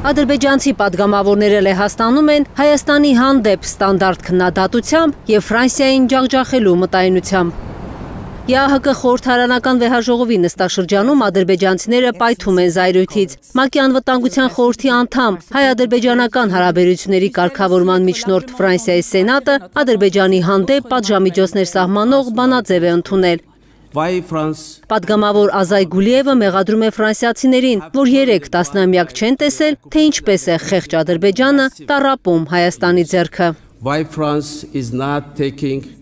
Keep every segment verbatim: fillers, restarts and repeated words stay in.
Ադրբեջանցի պատգամավորները Լեհաստանում են Հայաստանի հանդեպ ստանդարտ քննադատությամբ եւ Ֆրանսիային ջախջախելու մտայնությամբ։ ԵԱՀԿ խորհրդարանական վեհաժողովի նստաշրջանում ադրբեջանցիները պայթում են զայրույթից։ ՄԱԿ-ի անվտանգության խորհրդի անդամ հայ-ադրբեջանական հարաբերությունների կարգավորման միջնորդ Ֆրանսիայի սենատը Ադրբեջանի հանդեպ պատժամիջոցներ սահմանող բանաձև է ընդունել։ Պատգամավոր Ազայ Գուլիևը մեղադրում է ֆրանսիացիներին, որ երեք տասնամյակ չեն տեսել, թե ինչպես է խեղճ Ադրբեջանը տառապում Հայաստանի ձեռքը։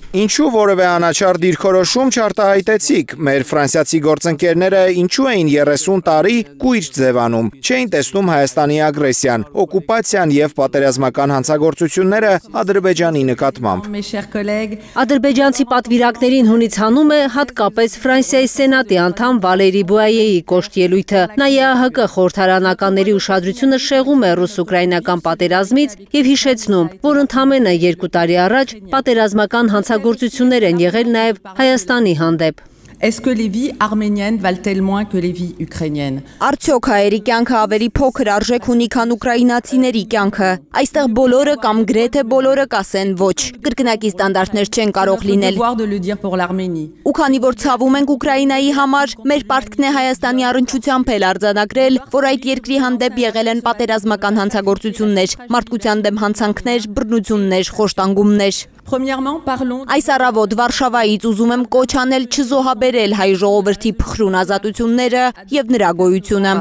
Ինչու որևէ անաչառ դիրքորոշում չարտահայտեցիք, մեր ֆրանսիացի գործընկերները ինչու էին երեսուն տարի կույր ձևանում, չէին տեսնում Հայաստանի ագրեսիան, օկուպացիան եւ պատերազմական հանցագործությունները Ադրբեջանի նկատմամբ։ Ադրբեջանցի պատվիրակներին հունից հանում է հատկապես Ֆրանսիայի սենատի անդամ Վալերի Բուայեի կոշտ ելույթը։ Նա ԵԱՀԿ խորհրդարանականների ուշադրությունը շեղում է ռուս-ուկրաինական պատերազմից եւ հիշեցնում, որ ընդամենը երկու տարի առաջ պատերազմական հանցագործություններ գործություններ են եղել նաև Հայաստանի հանդեպ։ Est-ce que les vies arméniennes valent-elles moins que les vies ukrainiennes? Արդյոք հայերի կյանքը ավելի փոքր արժեք ունի, քան ուկրաինացիների կյանքը։ Այստեղ բոլորը կամ գրեթե բոլորը կասեն ոչ, կրկնակի ստանդարտներ չեն կարող լինել։ Ու քանի որ ցավում ենք Ուկրաինայի համար, մեր պարտքն է Հայաստանի առնչությամբ էլ արձանագրել, որ այդ երկրի հանդեպ եղել են պատերազմական հանցագործություններ, մարդկության դեմ հանցանքներ, բռնություններ, խոշտանգումներ։ Այս առավոտ Վարշավայից ուզում եմ կոչ անել չզոհաբերել հայ ժողովրդի փխրուն ազատությունները եւ նրա գոյությունը։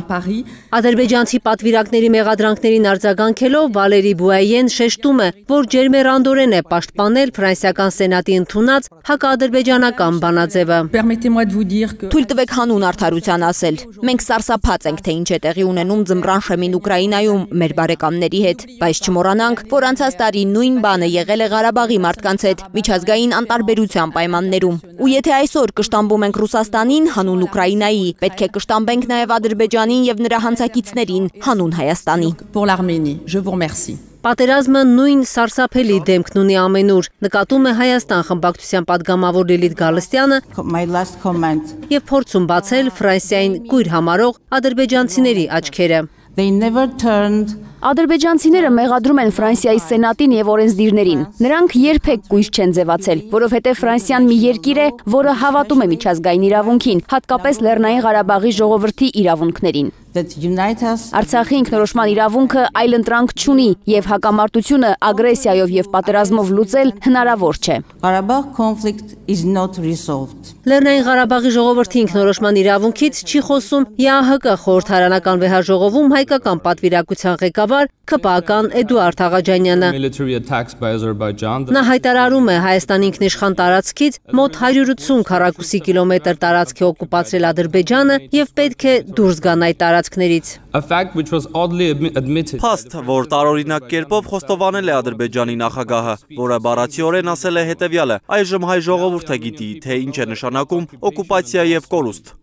Ադրբեջանցի պատվիրակների մեղադրանքներին արձագանքելով Վալերի Բուայեն շեշտում է, որ ջերմեռանդորեն է պաշտպանել ֆրանսիական սենատի ընդունած հակաադրբեջանական բանաձևը։ Թույլ տվեք հանուն արդարության ասել։ Մենք սարսափած ենք, թե ինչ է տեղի ունենում ձմռան շեմին Ուկրաինայում մեր բարեկամների հետ, բայց չմոռանանք, որ անցած տարի նույն բանը եղել է Ղարաբաղի մարդկանց հետ միջազգային անտարբերության պայմաններում։ Ու եթե այսօր կշտամբում ենք Ռուսաստանին հանուն Ուկրաինայի, պետք է կշտամբենք նաև Ադրբեջանին եւ նրա հանցակիցներին հանուն Հայաստանի։ Պատերազմը նույն սարսափելի դեմքն ունի ամենուր, նկատում է Հայաստան խմբակցության պատգամավոր Լիլիթ Գալստյանը եւ փորձում բացել Ֆրանսիային կույր համարող ադրբեջանցիների աչքերը։ Ադրբեջանցիները մեղադրում են Ֆրանսիայի սենատին եւ օրենսդիրներին։ Նրանք երբեք կույր չեն ձևացել, որովհետեւ Ֆրանսիան մի երկիր է, որը հավատում է միջազգային իրավունքին, հատկապես Լեռնային Ղարաբաղի ժողովրդի իրավունքներին։ Արցախի ինքնորոշման իրավունքը այլընտրանք չունի եւ հակամարտությունը ագրեսիայով եւ պատերազմով լուծել հնարավոր չէ։ Լեռնային Ղարաբաղի ժողովրդի ինքնորոշման իրավունքից չի խոսում ԵԱՀԿ խորհրդարանական վեհաժողովում հայկական պատվիրակության ղեկավար ՔՊԱ-ական Էդուարդ Աղաջանյանը։ Նա հայտարարում է Հայաստանի ինքնիշխան տարածքից մոտ հարյուր ութսուն քառակուսի կիլոմետր տարածք է օկուպացրել Ադրբեջանը եւ պետք է դուրս գան այդ տարածքներից։ Փաստ, որ տարօրինակ կերպով խոստովանել է Ադրբեջանի նախագահը, որը բառացիորեն ասել է հետևյալը. այժմ հայ ժողովուրդը գիտի, թե ինչ է նշանակում օկուպացիա եւ կորուստ։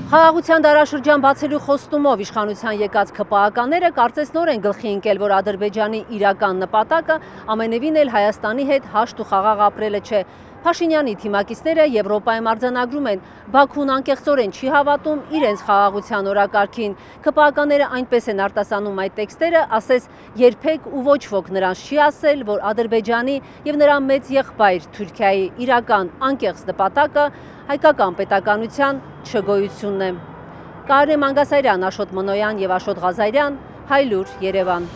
Խաղաղության դարաշրջան բացելու խոստումով իշխանության եկած ՔՊԱ-ականները կարծես նոր են գլխի ընկել, որ Ադրբեջանի իրական նպատակը ամենևին էլ Հայաստանի հետ հաշտ ու խաղաղ ապրելը չէ։ Փաշինյանի թիմակիցները Եվրոպայում արձանագրում են, Բաքուն անկեղծորեն չի հավատում իրենց խաղաղության օրակարգին։ ՔՊԱ-ականները այնպես են արտասանում այդ տեքստերը, ասես երբեք ու ոչ ոք նրանց չի ասել, որ Ադրբեջանի եւ նրա մեծ եղբայր Թուրքիայի իրական անկեղծ նպատակը հայկական պետականության չգոյությունն է։ Կարեն Մանգասարյան, Աշոտ Մնոյան եւ Աշոտ Ղազարյան, Հայլուր, Երևան։